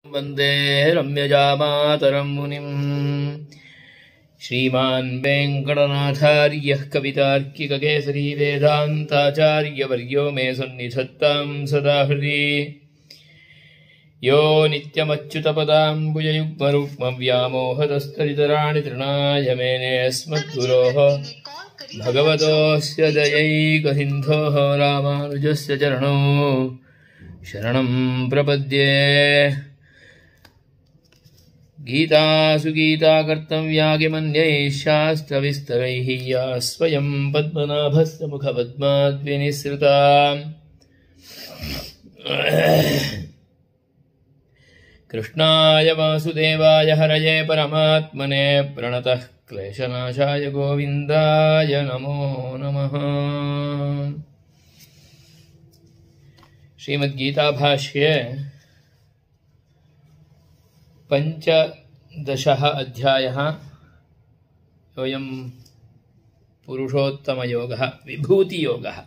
वन्दे रम्यजामातरं मुनिं श्रीमान् वेङ्कटनाथार्यः कवितार्किककेसरी वेदान्ताचार्यवर्यो मे सन्निधत्तां सदा हृदि यो नित्यमच्युतपदाम्बुजयुग्मरुक्मव्यामोहतस्तरितराणि तृणाय मेने अस्मद्गुरोः भगवतोऽस्य दयैकसिन्धोः रामानुजस्य चरणौ शरणं प्रपद्ये। गीतासु गीता कर्तव्या किमन्यैः शास्त्रविस्तरैः या स्वयं पद्मनाभस्य मुखपद्माद्विनिसृता। कृष्णाय वासुदेवाय हरये परमात्मने प्रणतः क्लेशनाशाय गोविन्दाय नमो नमः। श्रीमद्गीताभाष्ये पंचदशः अध्यायः। अयं पुरुषोत्तमयोगः विभूतियोगः।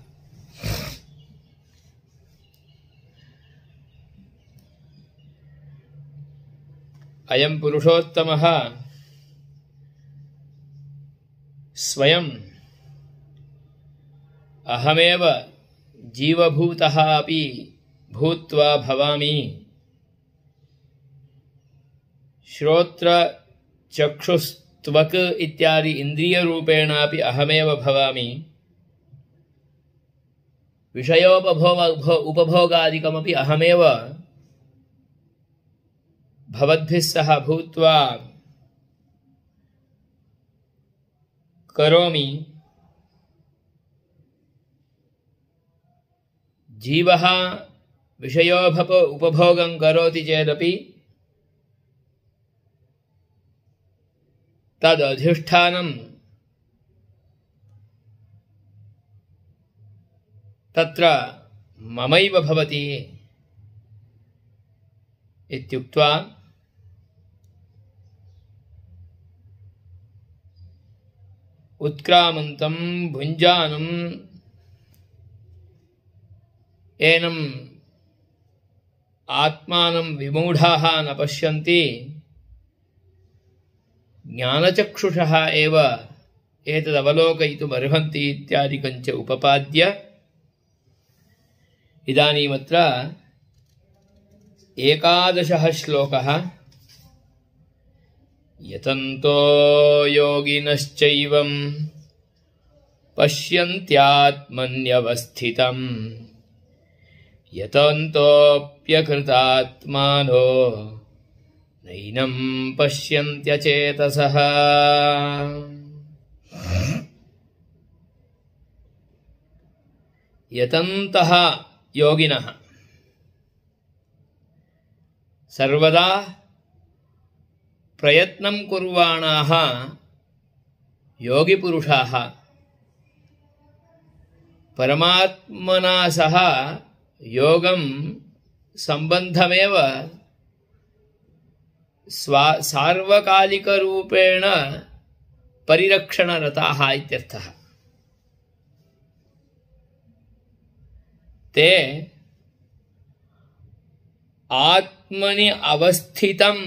अयं पुरुषोत्तमः स्वयं अहमेव जीवभूतः अपि भूत्वा भवामि, श्रोत्र चक्षुस्त्वक् इत्यादि इंद्रियरूपेणापि अहमेव भवामि, उपभोगादिकमपि अहमेव भवद्भिः सह भूत्वा करोमि। जीवः उपभोगं करोति चेदपि तदधिष्ठानं तत्र ममैव भवति इत्युक्त्वा उत्क्रामन्तं भुञ्जानं एनम् आत्मानं विमूढाः न पश्यन्ति, ज्ञानचक्षुषः एव एतदवलोकयितुमर्हन्ति इत्यादिकञ्च उपपाद्य इदानीमत्र 11 श्लोकः। यतन्तो योगिनश्चैवं पश्यन्त्यात्मन्यवस्थितं यतन्तोऽप्यकृतात्मानो नैनं पश्यन्त्यचेतसः। यतन्तः योगिनः सर्वदा प्रयत्नं कुर्वाणाः योगिपुरुषाः परमात्मना सह योगं सम्बन्धमेव सार्वकालिकरूपेण परिरक्षणरताः इत्यर्थः। ते आत्मनि अवस्थितं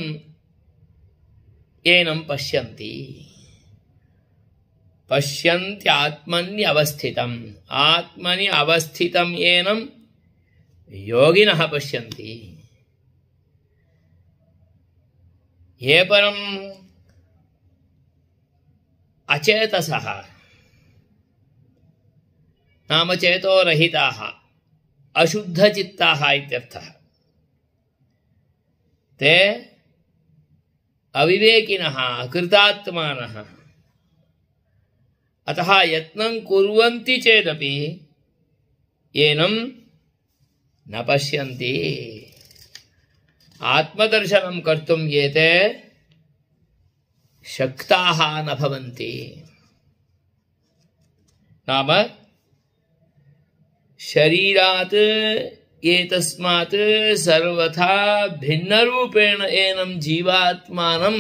एनं पश्यन्ति। पश्यन्त्यात्मन्यवस्थितम्, आत्मनि अवस्थितं एनं योगिनः पश्यन्ति। ये परम् अचेतसः नाम चेतोरहिताः अशुद्धचित्ताः इत्यर्थः, ते अविवेकिनः अकृतात्मानः। अतः यत्नं कुर्वन्ति चेदपि एनं न पश्यन्ति। आत्मदर्शनं कर्तुं एते शक्ताः न भवन्ति। नाम शरीरात् एतस्मात् सर्वथा भिन्नरूपेण एनं जीवात्मानं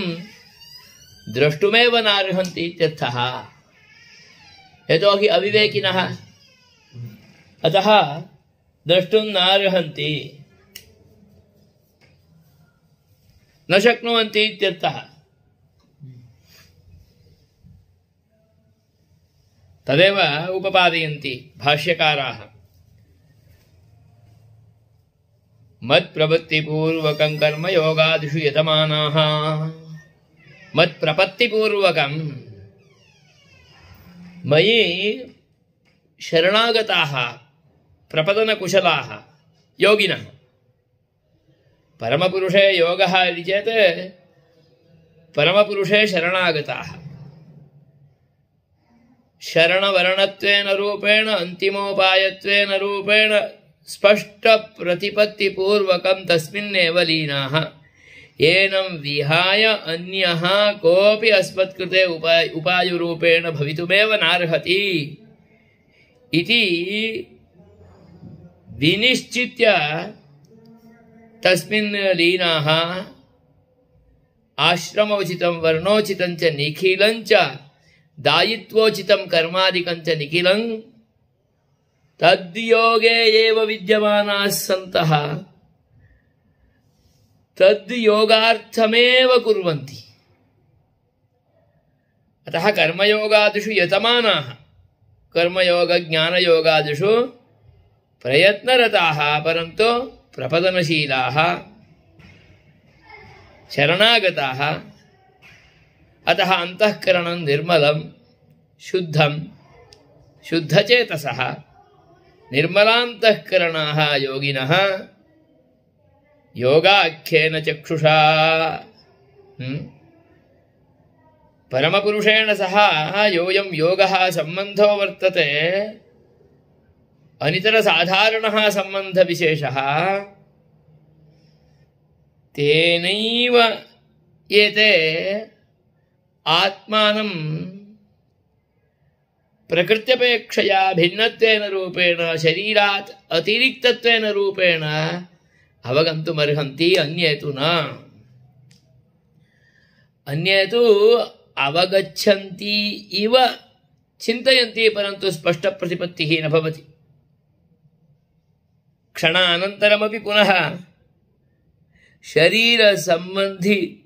द्रष्टुमेव नार्हन्ति इत्यर्थः। यतोहि अविवेकिनः, अतः द्रष्टुं नार्हन्ति। न शक्नुवन्ति इत्यर्थः। तदेव उपपादयन्ति भाष्यकाराः। मत्प्रपत्तिपूर्वकं कर्म योगादिषु यतमानाः। मत्प्रपत्तिपूर्वकं मयि शरणागताः प्रपदनकुशलाः योगिनः। परमपुरुषे योगः इति चेत् परमपुरुषे शरणागताः। शरणवर्णत्वेन रूपेण अन्तिमोपायत्वेन रूपेण स्पष्टप्रतिपत्तिपूर्वकं तस्मिन्नेव लीनाः। एनं विहाय अन्यः कोऽपि अस्मत्कृते उपायरूपेण भवितुमेव नार्हति इति विनिश्चित्य तस्मिन् लीनाः आश्रमोचितं वर्णोचितं च निखिलं च दायित्वोचितं कर्मादिकं च निखिलं तद्योगे एव विद्यमानाः सन्तः तद्योगार्थमेव कुर्वन्ति। अतः कर्मयोगादिषु यतमानाः कर्मयोग ज्ञानयोगादिषु प्रयत्नरताः परन्तु प्रपदनशीलाः शरणागताः। अतः अंतःकरणं निर्मलं शुद्धं शुद्धचेतसः निर्मलान्तःकरणाः योगिनः योगाख्येन चक्षुषा परमपुरुषेण सह योऽयं योगः सम्बन्धो वर्तते अनितरसाधारणः सम्बन्धविशेषः तेनैव एते आत्मानं प्रकृत्यपेक्षया भिन्नत्वेन रूपेण शरीरात् अतिरिक्तत्वेन रूपेण अवगन्तुमर्हन्ति। अन्ये तु न। अन्ये तु अवगच्छन्ति इव चिन्तयन्ति परन्तु स्पष्टप्रतिपत्तिः न भवति। क्षणानन्तरमपि पुनः शरीरसम्बन्धि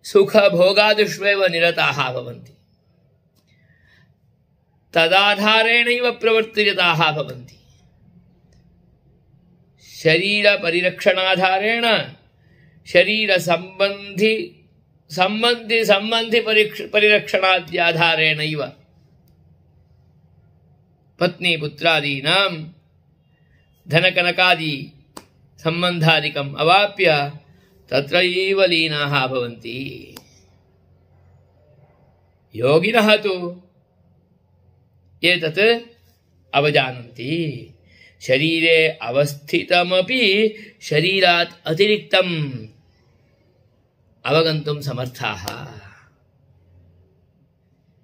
सुखभोगादिष्वेव निरताः भवन्ति। तदाधारेणैव प्रवर्तिताः भवन्ति। शरीरपरिरक्षणाधारेण शरीरसम्बन्धि परिरक्षणाद्याधारेणैव पत्नीपुत्रादीनां धनकनकादि सम्बन्धादिकम् अवाप्य तत्रैव लीनाः भवन्ति। योगिनः तु एतत् अवजानन्ति। शरीरे अवस्थितमपि शरीरात् अतिरिक्तम् अवगन्तुं समर्थाः।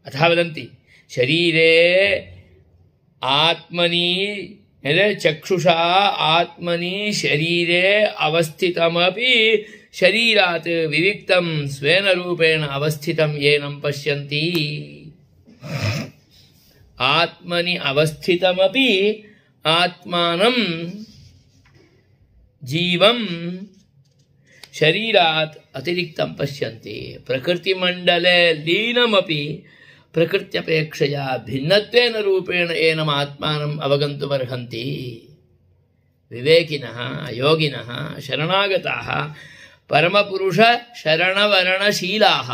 अतः वदन्ति शरीरे आत्मनि चक्षुषा आत्मनि शरीरे अवस्थितमपि शरीरात् विविक्तं स्वेन रूपेण अवस्थितं येनं पश्यन्ति। आत्मनि अवस्थितमपि आत्मानं जीवं शरीरात् अतिरिक्तं पश्यन्ति। प्रकृतिमण्डले लीनमपि प्रकृत्यपेक्षया भिन्नत्वेन रूपेण एनम् आत्मानम् अवगन्तुमर्हन्ति। विवेकिनः योगिनः शरणागताः परमपुरुष शरणवरणशीलाः।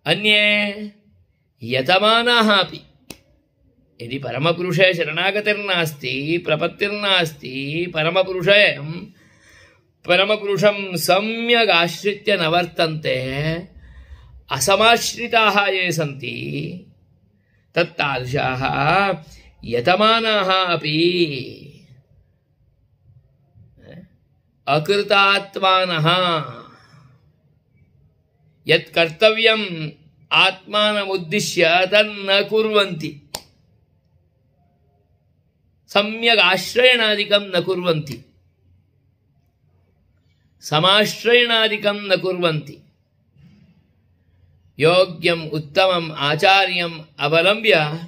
अन्ये यतमानाः अपि यदि परमपुरुषे शरणागतिर्नास्ति प्रपत्तिर्नास्ति परमपुरुषं सम्यक् आश्रित्य न वर्तन्ते असमाश्रिताः ये सन्ति तत्तादृशाः यतमानाः अपि अकृतात्मानः यत् कर्तव्यम् आत्मानमुद्दिश्य तन्न कुर्वन्ति। सम्यक् आश्रयणादिकं न कुर्वन्ति। समाश्रयणादिकं न कुर्वन्ति। योग्यम् उत्तमम् आचार्यम् अवलम्ब्य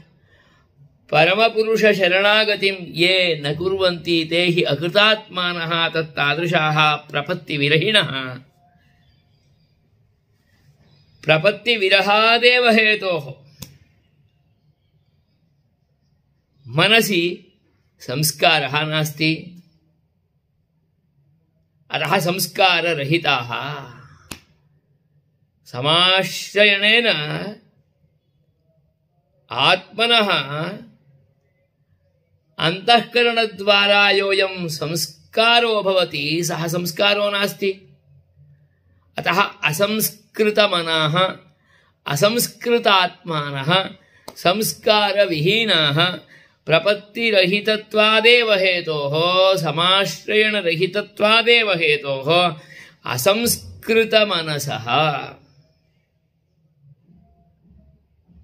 परमपुरुष शरणागतिं ये न कुर्वन्ति ते हि अकृतात्मानः तत्तादृशाः प्रपत्तिविरहिणः। प्रपत्तिविरहादेव हेतोः मनसि संस्कारः नास्ति, अतः संस्काररहिताः। समाश्रयणेन आत्मनः अंतःकरणद्वारा योऽयं संस्कारो भवति सः संस्कारो नास्ति। अतः असंस्कृतमनाः असंस्कृतात्मानः संस्कारविहीनाः प्रपत्तिरहितत्वादेव हेतोः समाश्रयणरहितत्वादेव हेतोः असंस्कृतमनसः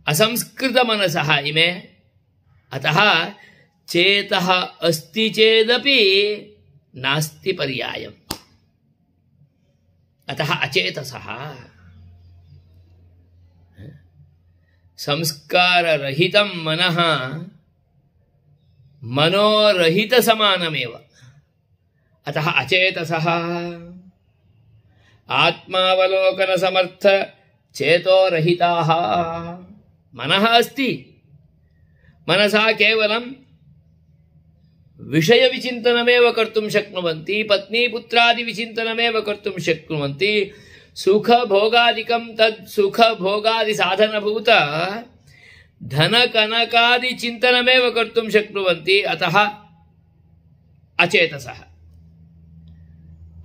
असंस्कृतमनसः इमे। अतः चेतः अस्ति चेदपि नास्ति पर्यायम्, अतः अचेतसः। संस्काररहितं मनः मनोरहितसमानमेव, अतः अचेतसः। आत्मावलोकनसमर्थ चेतोरहिताः। मनः अस्ति, मनसा केवलं विषयविचिन्तनमेव कर्तुं शक्नुवन्ति, पत्नीपुत्रादिविचिन्तनमेव कर्तुं शक्नुवन्ति। सुखभोगादिकं तत् सुखभोगादिसाधनभूत धनकनकादिचिन्तनमेव कर्तुं शक्नुवन्ति, अतः अचेतसः।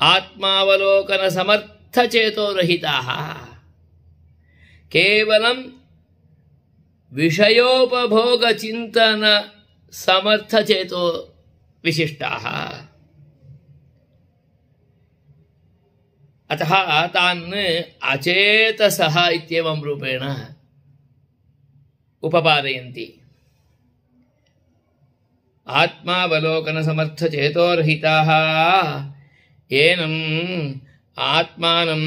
आत्मावलोकनसमर्थचेतोरहिताः केवलं विषयोपभोगचिन्तन समर्थचेतो विशिष्टाः। अतः तान् अचेतसः इत्येवं रूपेण उपपादयन्ति। आत्मावलोकनसमर्थचेतोरहिताः एनम् आत्मानं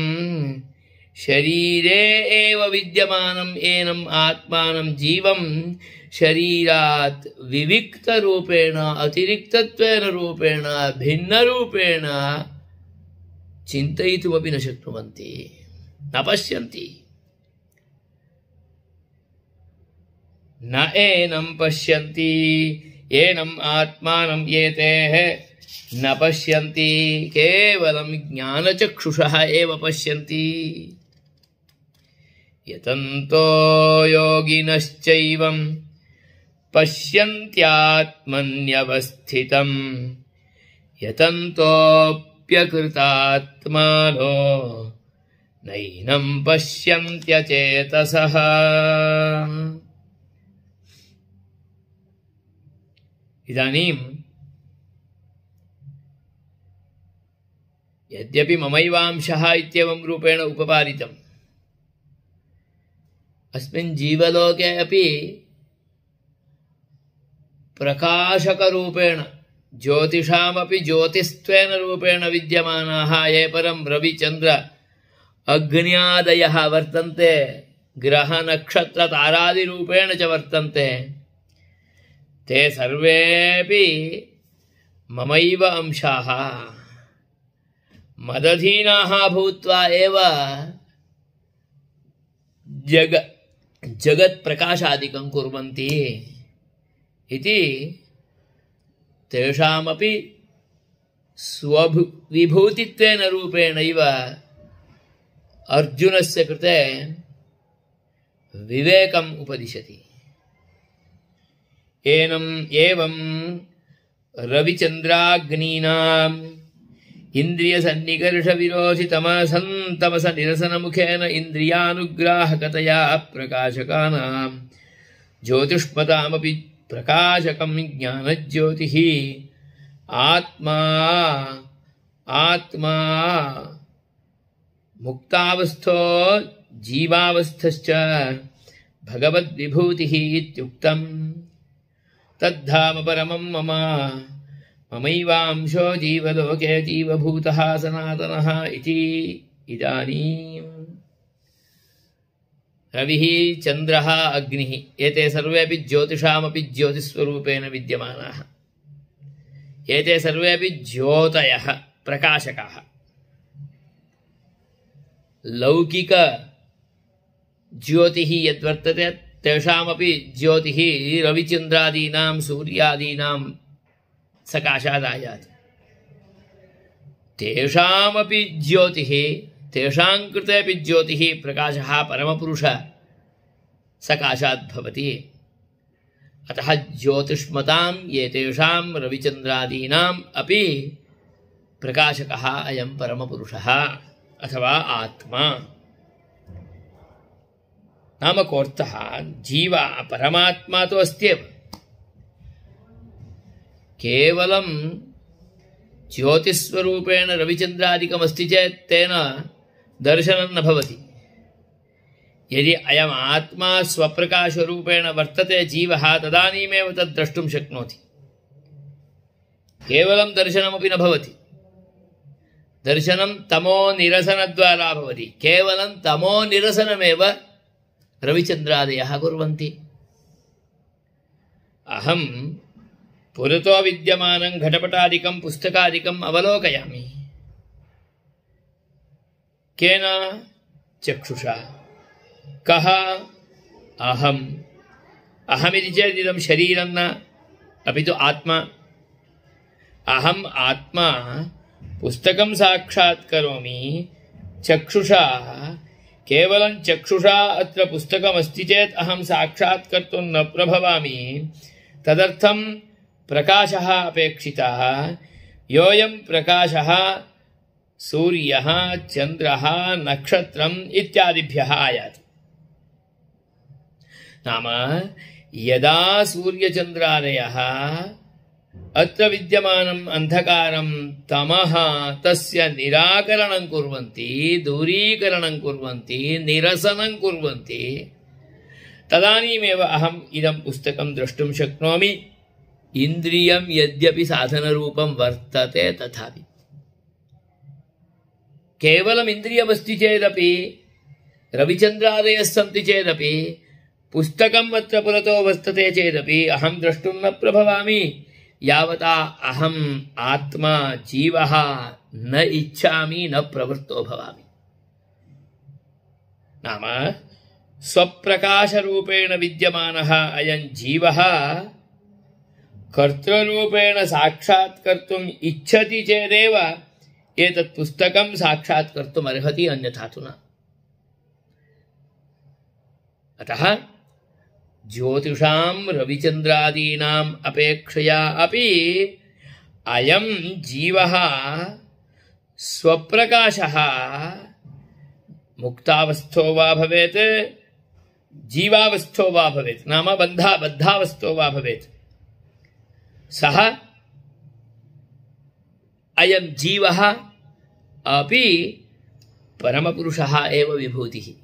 शरीरे एव विद्यमानम् एनम् आत्मानं जीवं शरीरात् विविक्तरूपेण अतिरिक्तत्वेन रूपेण भिन्नरूपेण चिन्तयितुमपि न शक्नुवन्ति, न पश्यन्ति। न एनं पश्यन्ति एनम् आत्मानं एतेः न पश्यन्ति, केवलं ज्ञानचक्षुषः एव पश्यन्ति। यतन्तो योगिनश्चैवं पश्यन्त्यात्मन्यवस्थितं यतन्तोऽप्यकृतात्मानो नैनं पश्यन्त्यचेतसः। इदानीं यद्यपि ममैवांशः इत्येवं रूपेण उपपादितम्, अस्मिन् जीवलोके अपि प्रकाशकरूपेण ज्योतिषामपि ज्योतिस्त्वेन रूपेण विद्यमानाः ये परं रविचन्द्र अग्न्यादयः वर्तन्ते, ग्रहनक्षत्रतारादिरूपेण च वर्तन्ते, ते सर्वेपि ममैव अंशाः मदधीनाः भूत्वा एव जगत्प्रकाशादिकं कुर्वन्ति इति तेषामपि स्वविभूतित्वेन रूपेणैव अर्जुनस्य कृते विवेकम् उपदिशति। एनम् एवं रविचन्द्राग्नीनाम् इन्द्रियसन्निकर्षविरोधितमसन्तमसनिरसनमुखेन इन्द्रियानुग्राहकतया प्रकाशकानां ज्योतिष्मतामपि प्रकाशकं ज्ञानज्योतिः आत्मा आत्मा मुक्तावस्थो जीवावस्थश्च भगवद्विभूतिः इत्युक्तम्। तद्धाम परमं मम ममैवांशो जीवलोके जीवभूतः सनातनः इति। इदानीम् रविः चन्द्रः अग्निः एते सर्वेपि ज्योतिषामपि ज्योतिस्वरूपेण विद्यमानाः। एते सर्वेपि ज्योतयः प्रकाशकाः। लौकिक ज्योतिः यद्वर्तते तेषामपि ज्योतिः रविचन्द्रादीनां सूर्यादीनां सकाशादायाति। तेषामपि ज्योतिः तेषां कृतेपि ज्योतिः प्रकाशः परमपुरुष सकाशात् भवति। अतः ज्योतिष्मतां एतेषां रविचन्द्रादीनाम् अपि प्रकाशकः अयं परमपुरुषः अथवा आत्मा। नाम कोऽर्थः जीव परमात्मा तो अस्त्येव, केवलं ज्योतिस्वरूपेण रविचन्द्रादिकमस्ति चेत् तेन दर्शनं न भवति। यदि अयम् आत्मा स्वप्रकाशरूपेण वर्तते जीवः तदानीमेव तद् द्रष्टुं शक्नोति। केवलं दर्शनमपि न भवति। दर्शनं तमो निरसनद्वारा भवति। केवलं तमो निरसनमेव रविचन्द्रादयः कुर्वन्ति। अहं पुरतो विद्यमानं घटपटादिकं पुस्तकादिकम् अवलोकयामि। केन? चक्षुषा। कः? अहम्। अहमिति चेत् इदं शरीरं न, अपि तु आत्मा। अहम् आत्मा पुस्तकं साक्षात् करोमि चक्षुषा। केवलं चक्षुषा अत्र पुस्तकमस्ति चेत् अहं साक्षात् कर्तुं न प्रभवामि। तदर्थं प्रकाशः अपेक्षितः। योऽयं प्रकाशः सूर्यः चन्द्रः नक्षत्रम् इत्यादिभ्यः आयाति। नाम यदा सूर्यचन्द्रादयः अत्र विद्यमानम् अन्धकारं तमः तस्य निराकरणं कुर्वन्ति, दूरीकरणं कुर्वन्ति, निरसनं कुर्वन्ति, तदानीमेव अहम् इदं पुस्तकं द्रष्टुं शक्नोमि। इन्द्रियं यद्यपि साधनरूपं वर्तते तथापि केवलम् इन्द्रियमस्ति चेदपि, रविचन्द्रादयः सन्ति चेदपि, पुस्तकम् अत्र पुरतो वर्तते चेदपि अहं द्रष्टुं न प्रभवामि यावता अहम् आत्मा जीवः न इच्छामि, न प्रवृत्तो भवामि। नाम स्वप्रकाशरूपेण विद्यमानः अयं जीवः कर्तृरूपेण साक्षात् कर्तुम् इच्छति चेदेव एतत् पुस्तकं साक्षात् कर्तुम् अर्हति, अन्यथा तु न। अतः ज्योतिषां रविचन्द्रादीनाम् अपेक्षया अपि अयं जीवः स्वप्रकाशः मुक्तावस्थो वा भवेत् जीवावस्थो वा भवेत्, नाम बद्धावस्थो वा भवेत्, सः अयं जीवः अपि परमपुरुषः एव विभूतिः।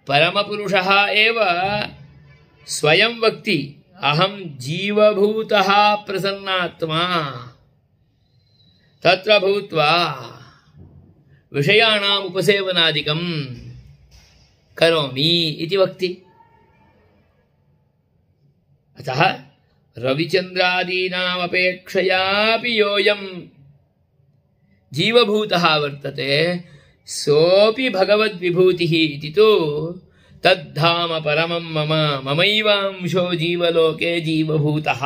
परमपुरुषः एव स्वयं वक्ति अहं जीवभूतः प्रसन्नात्मा तत्र भूत्वा विषयाणाम् उपसेवनादिकं करोमि इति वक्ति। अतः रविचन्द्रादीनामपेक्षयापि योऽयं जीवभूतः वर्तते सोऽपि भगवद्विभूतिः इति तु तद्धाम परमं मम ममैवांशो जीवलोके जीवभूतः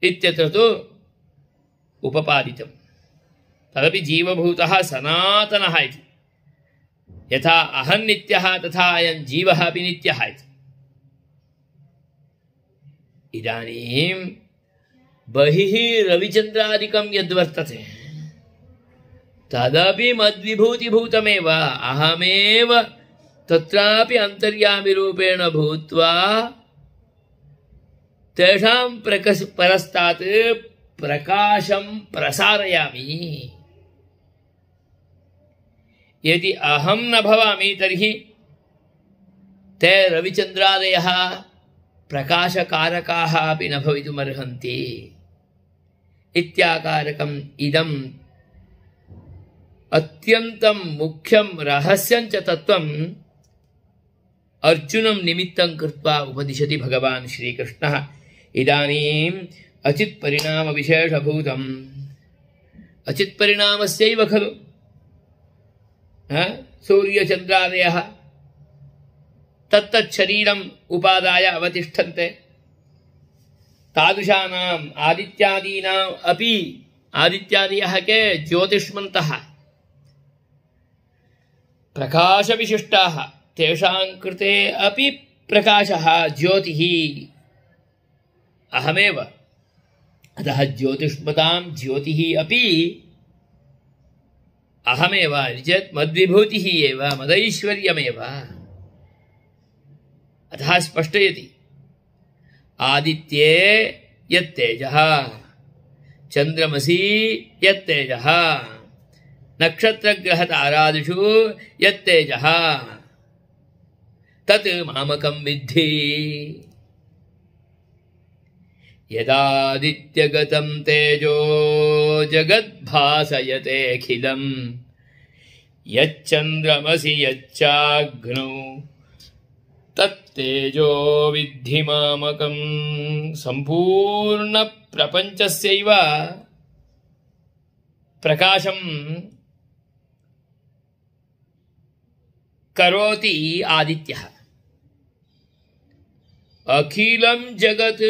इत्यत्र तु उपपादितं। तदपि जीवभूतः सनातनः इति। यथा अहं नित्यः तथा अयं जीवः अपि नित्यः इति। इदानीं बहिः रविचन्द्रादिकं यद्वर्तते तदपि मद्विभूतिभूतमेव। अहमेव तत्रापि अन्तर्यामिरूपेण भूत्वा तेषां परस्तात् प्रकाशं प्रसारयामि। यदि अहं न भवामि तर्हि ते रविचन्द्रादयः प्रकाशकारकाः अपि न भवितुमर्हन्ति इत्याकारकम् इदम् अत्यन्तं मुख्यं रहस्यं च तत्त्वम् अर्जुनं निमित्तं कृत्वा उपदिशति भगवान् श्रीकृष्णः। इदानीम् अचित्परिणामविशेषभूतम् अचित्परिणामस्यैव खलु सूर्यचन्द्रादयः तत्तच्छरीरम् उपादाय अवतिष्ठन्ते। तादृशानाम् आदित्यादीनाम् अपि आदित्यादयः के ज्योतिष्मन्तः प्रकाशविशिष्टाः, तेषां कृते अपि प्रकाशः ज्योतिः अहमेव। अतः ज्योतिष्मतां ज्योतिः अपि अहमेव चेत् मद्विभूतिः एव, मदैश्वर्यमेव। अतः स्पष्टयति आदित्ये यत्तेजः, चन्द्रमसि यत्तेजः, नक्षत्रग्रहतारादिषु यत्तेजः तत् मामकं विद्धि। यदादित्यगतं तेजो जगद्भासयतेऽखिलम् यच्चन्द्रमसि यच्चाग्नौ तत्तेजो विद्धि मामकं। सम्पूर्णप्रपञ्चस्यैव प्रकाशं करोति आदित्यः। अखिलं जगत्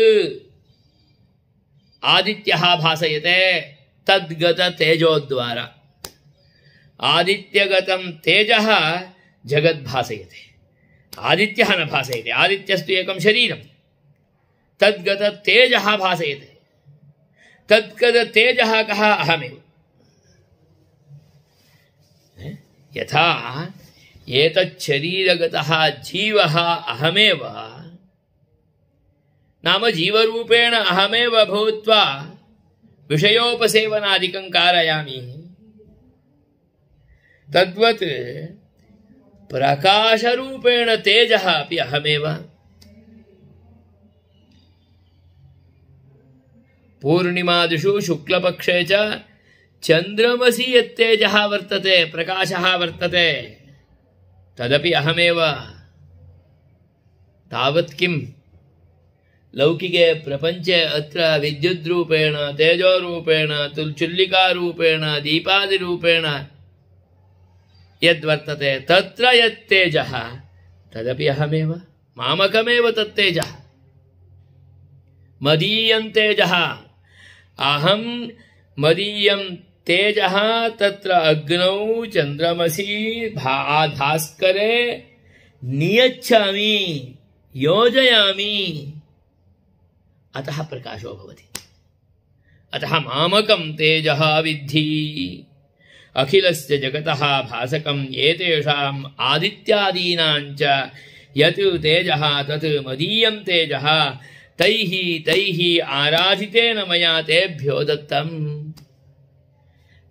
आदित्यः भासयते तद्गत तेजोद्वारा। आदित्यगतं तेजः जगद् भासयते, आदित्यः न भासयते। आदित्यस्तु एकं शरीरं, तद्गत तेजः भासयते। तद्गत तेजः कः? अहमेव। यथा एतच्छरीरगतः जीवः अहमेव, नाम जीवरूपेण अहमेव भूत्वा विषयोपसेवनादिकं कारयामि, तद्वत् प्रकाशरूपेण तेजः अपि अहमेव। पूर्णिमादिषु शुक्लपक्षे च चन्द्रमसि यत्तेजः वर्तते, प्रकाशः वर्तते, तदपि अहमेव। तावत् किं लौकिके प्रपञ्चे अत्र विद्युद्रूपेण, तेजोरूपेण, चुल्लिकारूपेण, दीपादिरूपेण यद्वर्तते तत्र यत्तेजः तदपि अहमेव, मामकमेव तत्तेजः। मदीयं तेजः, अहं मदीयं तेजः तत्र अग्नौ चन्द्रमसि भास्करे नियच्छामि, योजयामि, अतः प्रकाशो भवति। अतः मामकं तेजः विद्धि। अखिलस्य जगतः भासकं एतेषाम् आदित्यादीनां च यत् तेजः तत् मदीयं तेजः तैः आराधितेन मया तेभ्यो दत्तम्।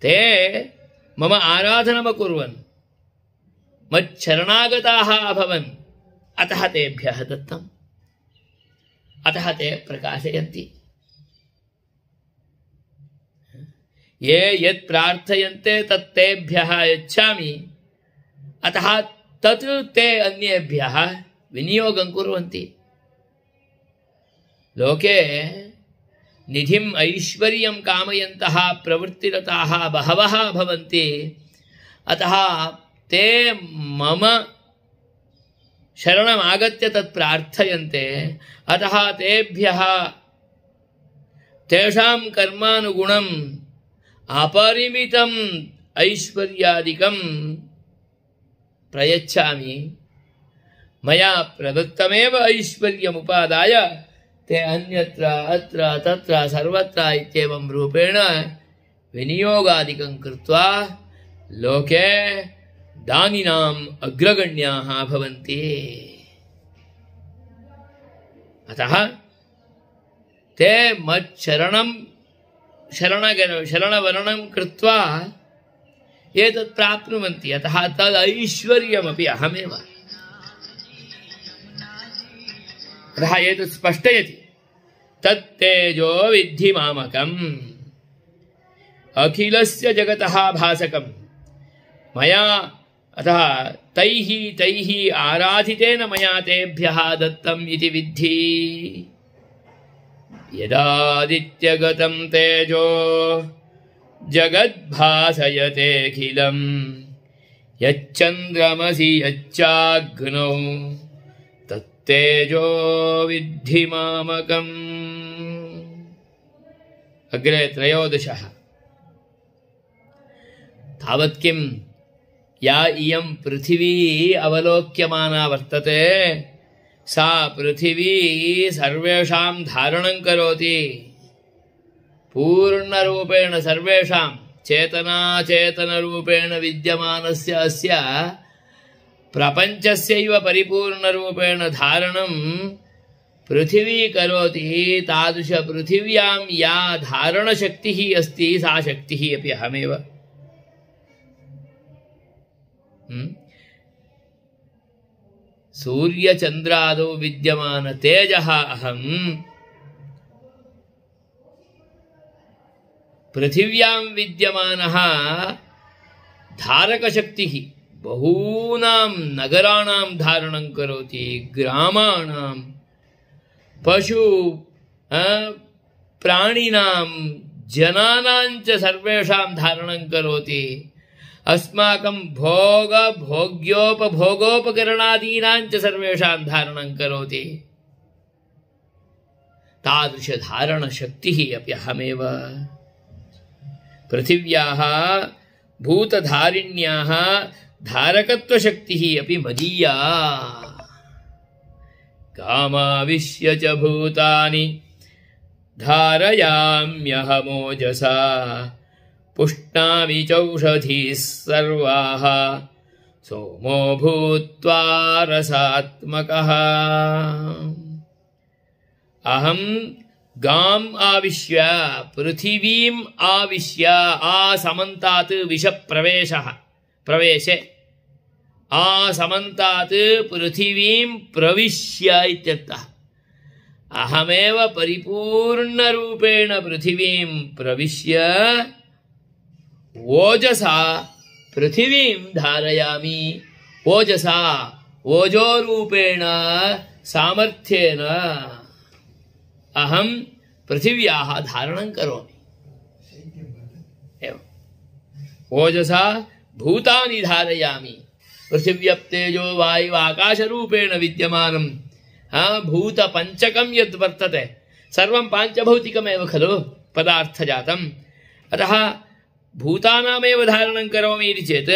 ते मम आराधनमकुर्वन् मच्छरणागताः अभवन्, अतः तेभ्यः दत्तम्, अतः ते प्रकाशयन्ति। ये यत् प्रार्थयन्ते तत्तेभ्यः यच्छामि, अतः तत् ते अन्येभ्यः विनियोगं कुर्वन्ति। लोके निधिम् ऐश्वर्यं कामयन्तः प्रवृत्तिरताः बहवः भवन्ति, अतः ते मम शरणमागत्य तत् प्रार्थयन्ते, अतः तेभ्यः तेषां कर्मानुगुणम् अपरिमितम् ऐश्वर्यादिकं प्रयच्छामि। मया प्रदत्तमेव ऐश्वर्यमुपादाय ते अन्यत्र अत्र तत्र सर्वत्र इत्येवं रूपेण विनियोगादिकं कृत्वा लोके दानिनाम् अग्रगण्याः भवन्ति। अतः ते शरणवरणं कृत्वा एतत् प्राप्नुवन्ति, अतः तदैश्वर्यमपि अहमेव। अतः एतत् स्पष्टयति तत्तेजो विद्धि मामकम्। अखिलस्य जगतः भासकम् मया अतः तैः तैः आराधितेन मया तेभ्यः दत्तम् इति विद्धि। यदादित्यगतं तेजो जगद्भासयतेऽखिलम् यच्चन्द्रमसि यच्चाग्नौ तत्तेजो विद्धि मामकम्। अग्रे 13 तावत् किं या इयं पृथिवी अवलोक्यमाना वर्तते सा पृथिवी सर्वेषां धारणं करोति। पूर्णरूपेण सर्वेषां चेतनाचेतनरूपेण विद्यमानस्य अस्य प्रपञ्चस्यैव परिपूर्णरूपेण धारणं पृथिवी करोति। तादृश पृथिव्यां या धारणशक्तिः अस्ति सा शक्तिः अपि अहमेव। सूर्यचन्द्रादौ विद्यमान तेजः अहम्। पृथिव्यां विद्यमानः धारकशक्तिः बहूनां नगराणां धारणं करोति, ग्रामाणां पशु प्राणिनां जनानां च सर्वेषां धारणं करोति। अस्माकं भोग्योपभोगोपकरणादीनां च सर्वेषां धारणं करोति। तादृश धारणशक्तिः अपि अहमेव। पृथिव्याः भूतधारिण्याः धारकत्वशक्तिः अपि मदीया। कामाविश्य च भूतानि धारयाम्यहमोजसा पुष्णामि चौषधीः सर्वाः सोमो भूत्वा रसात्मकः। अहं गाम् आविश्य पृथिवीम् आविश्य आसमन्तात् प्रवेशे आसमन्तात् पृथिवीं प्रविश्य इत्यर्थः। अहमेव परिपूर्णरूपेण पृथिवीं प्रविश्य ओजसा पृथिवीं धारयामि। ओजसा ओजोरूपेण सामर्थ्येन अहं पृथिव्याः धारणं करोमि। एवं ओजसा भूतानि धारयामि। पृथिव्यप्तेजो वायु आकाशरूपेण विद्यमानं भूतपञ्चकं यद् वर्तते सर्वं पाञ्चभौतिकमेव खलु पदार्थजातम्। अतः भूतानामेव धारणं करोमि इति चेत्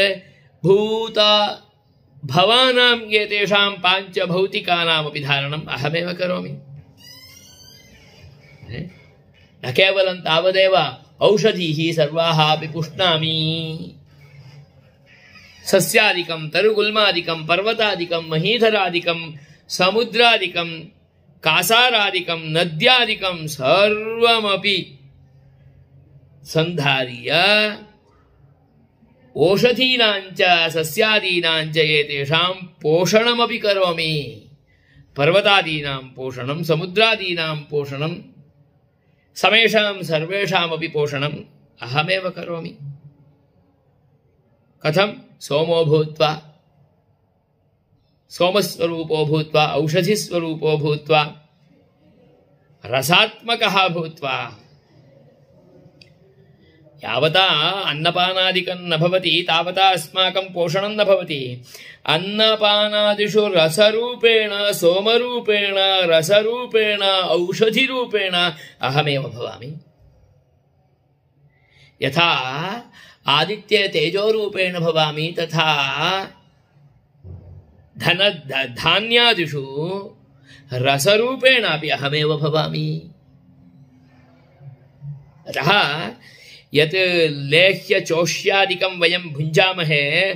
भवानां एतेषां पाञ्चभौतिकानामपि धारणम् अहमेव करोमि। न केवलं तावदेव औषधीः सर्वाः अपि पुष्णामि। सस्यादिकं तरुगुल्मादिकं पर्वतादिकं महीधरादिकं समुद्रादिकं कासारादिकं नद्यादिकं सर्वमपि सन्धार्य ओषधीनां च सस्यादीनां च एतेषां पोषणमपि करोमि। पर्वतादीनां पोषणं समुद्रादीनां पोषणं समेषां सर्वेषामपि पोषणम् अहमेव करोमि। कथं? सोमो भूत्वा सोमस्वरूपो भूत्वा औषधिस्वरूपो भूत्वा रसात्मकः भूत्वा। यावता अन्नपानादिकं न भवति तावता अस्माकं पोषणं न भवति। अन्नपानादिषु रसरूपेण सोमरूपेण रसरूपेण औषधिरूपेण अहमेव भवामि। यथा आदित्ये तेजोरूपेण भवामि तथा धान्यादिषु रसरूपेणापि अहमेव भवामि। अतः यत् लेह्य चोष्यादिकं वयं भुञ्जामहे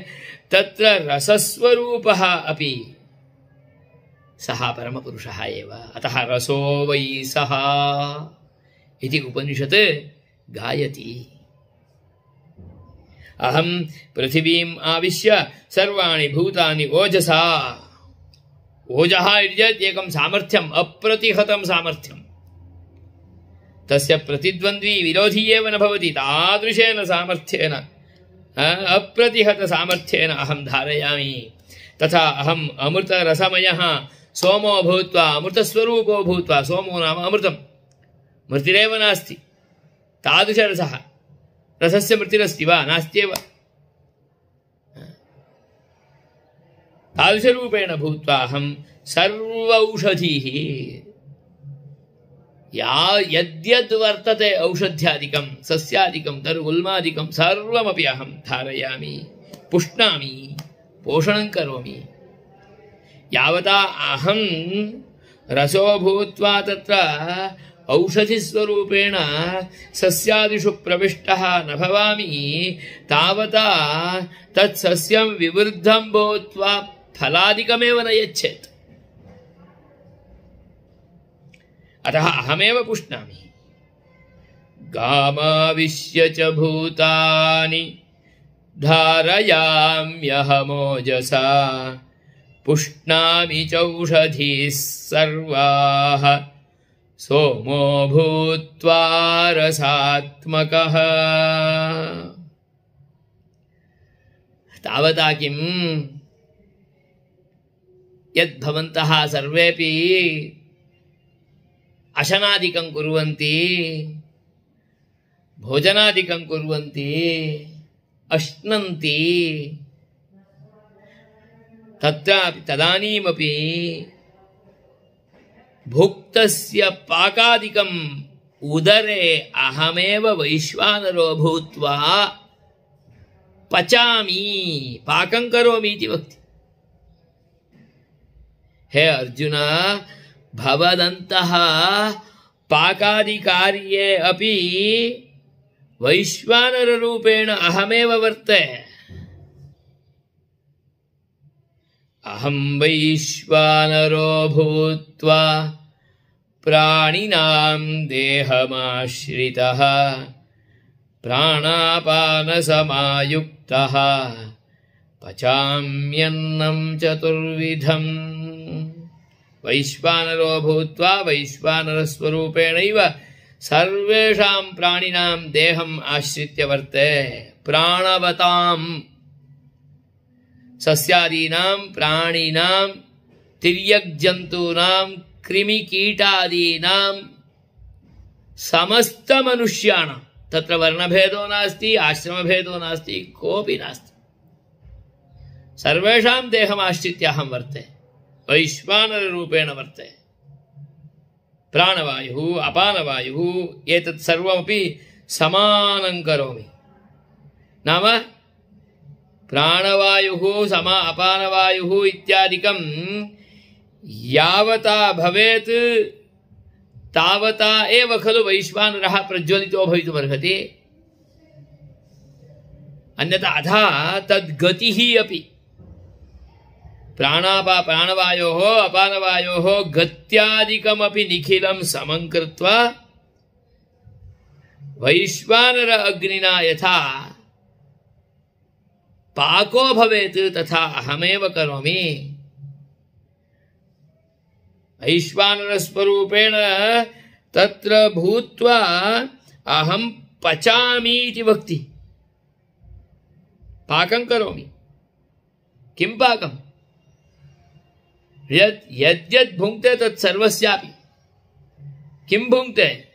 तत्र रसस्वरूपः अपि सः परमपुरुषः एव। अतः रसो वै सः इति उपनिषत् गायति। अहं पृथिवीम् आविश्य सर्वाणि भूतानि ओजसा। ओजः इति चेत् एकं सामर्थ्यम्, अप्रतिहतं सामर्थ्यम्। तस्य प्रतिद्वन्द्वी विरोधी एव न भवति। तादृशेन सामर्थ्येन अप्रतिहत सामर्थ्येन अहं धारयामि। तथा अहम् अमृतरसमयः सोमो भूत्वा अमृतस्वरूपो भूत्वा, सोमो नाम अमृतं, मृतिरेव नास्ति, तादृशरसः, रसस्य मृतिरस्ति वा? नास्त्येव। तादृशरूपेण भूत्वा अहं सर्वौषधीः, यद्यद् वर्तते औषध्यादिकं सस्यादिकं तरुगुल्मादिकं सर्वमपि अहं धारयामि, पुष्णामि, पोषणं करोमि। यावता अहं रसो भूत्वा तत्र औषधिस्वरूपेण सस्यादिषु प्रविष्टः न भवामि, तावता तत्सस्यं विवृद्धं भूत्वा फलादिकमेव न यच्छेत्। अतः अहमेव पुष्णामि। गामाविश्य च भूतानि धारयाम्यहमोजसा, पुष्णामि चौषधीः सर्वाः सोमो भूत्वा रसात्मकः। तावता किम् यद्भवन्तः सर्वेपि अशनादिकं कुर्वन्ति, भोजनादिकं कुर्वन्ति, अश्नन्ति, तत्रापि तदानीमपि भुक्तस्य पाकादिकम् उदरे अहमेव वैश्वानरो भूत्वा पचामि, पाकं करोमि इति वक्ति। हे अर्जुन, भवदन्तः पाकादिकार्ये अपि वैश्वानररूपेण अहमेव वर्ते। अहं वैश्वानरो भूत्वा प्राणिनां देहमाश्रितः, प्राणापानसमायुक्तः, पचाम्यन्नं चतुर्विधम्। वैश्वानरो भूत्वा वैश्वानरस्वरूपेणैव सर्वेषां प्राणिनां देहम् आश्रित्य वर्ते। प्राणवतां सस्यादीनां, प्राणिनां, तिर्यग्जन्तूनां, कृमिकीटादीनां, समस्तमनुष्याणां, तत्र वर्णभेदो नास्ति, आश्रमभेदो नास्ति, कोऽपि नास्ति। सर्वेषां देहमाश्रित्य अहं वर्ते, वैश्वानररूपेण वर्ते। प्राणवायुः, अपानवायुः, एतत् सर्वमपि समानं करोमि। नाम प्राणवायुः अपानवायुः इत्यादिकं यावता भवेत् तावता एव खलु वैश्वानरः प्रज्वलितो भवितुमर्हति। अन्यथा अधा तद्गतिः अपि प्राणवायोः अपानवायोः गत्यादिकमपि निखिलं समं कृत्वा वैश्वानर अग्निना यथा पाको भवेत् तथा अहमेव करोमि। वैश्वानरस्वरूपेण तत्र भूत्वा अहं पचामि इति वक्ति। पाकं करोमि। किं पाकं? यद्यद् भुङ्क्ते तत्सर्वस्यापि। किं भुङ्क्ते?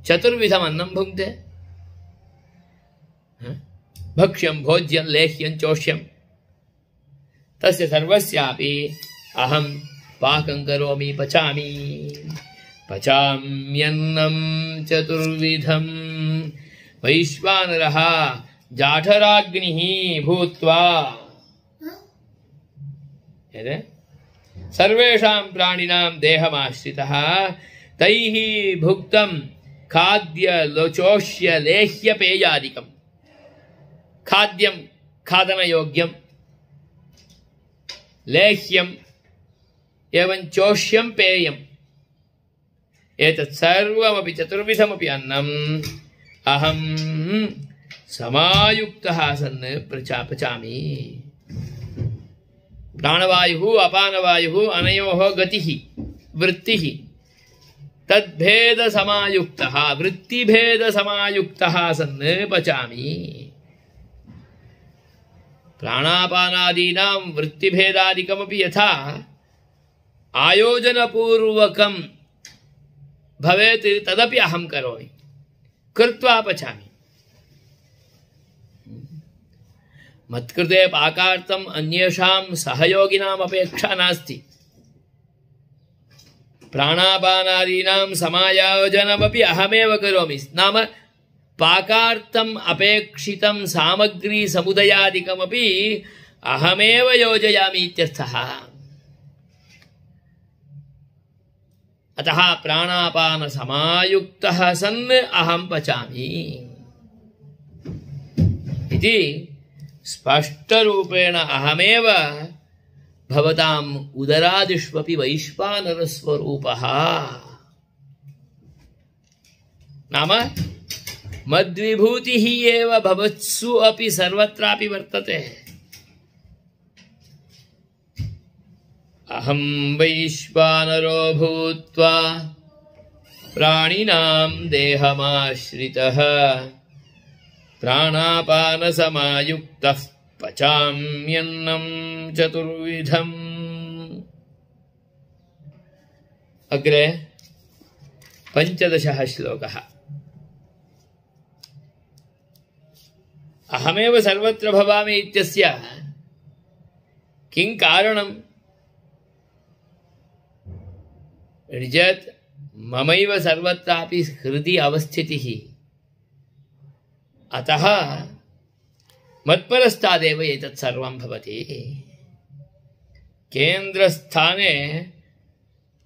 चतुर्विधम् अन्नं भुङ्क्ते। भक्ष्यं, भोज्यं, लेह्यं, चोष्यं, तस्य सर्वस्यापि अहं पाकं करोमि, पचामि। पचाम्यन्नं चतुर्विधम्। वैश्वानरः जाठराग्निः भूत्वा सर्वेषां प्राणिनां देहमाश्रितः, तैः भुक्तं खाद्य चोष्य लेह्य पेयादिकम्। खाद्यं खादनयोग्यं, लेह्यं एवं चोष्यं पेयम्, एतत् सर्वमपि चतुर्विधमपि अन्नम् अहं समायुक्तः सन् पचामि। प्राणवायुः अपानवायुः अनयोः गतिः वृत्तिः तद्भेदसमायुक्तः, वृत्तिभेदसमायुक्तः सन् पचामि। प्राणापानादीनां वृत्तिभेदादिकमपि यथा आयोजनपूर्वकं भवेत् तदपि अहं करोमि, कृत्वा पचामि। मत्कृते पाकार्थम् अन्येषां सहयोगिनाम् अपेक्षा नास्ति। प्राणापानादीनां समायोजनमपि अहमेव करोमि, नाम पाकार्थम् अपेक्षितं सामग्री समुदयादिकमपि अहमेव योजयामि इत्यर्थः। अतः प्राणापान समायुक्तः सन् अहं पचामि इति स्पष्टरूपेण अहमेव भवताम् उदरादिष्वपि वैश्वानरस्वरूपः, नाम मद्विभूतिः एव भवत्सु अपि सर्वत्रापि वर्तते। अहं वैश्वानरो भूत्वा प्राणिनां देहमाश्रितः प्राणापानसमायुक्तः पचाम्यन्नं चतुर्विधम्। अग्रे 15 श्लोकः। अहमेव सर्वत्र भवामि इत्यस्य किं कारणम्? निजत् ममैव सर्वत्रापि हृदि अवस्थितिः, अतः मत्परस्तादेव एतत् सर्वं भवति। केन्द्रस्थाने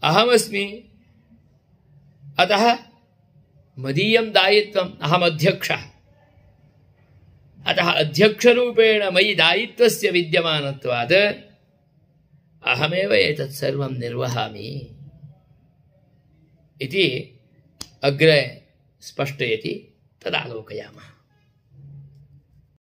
अहमस्मि, अतः मदीयं दायित्वम्, अहमध्यक्षः, अतः अध्यक्षरूपेण मयि दायित्वस्य विद्यमानत्वात् अहमेव एतत् सर्वं निर्वहामि इति अग्रे स्पष्टयति, तदालोकयामः।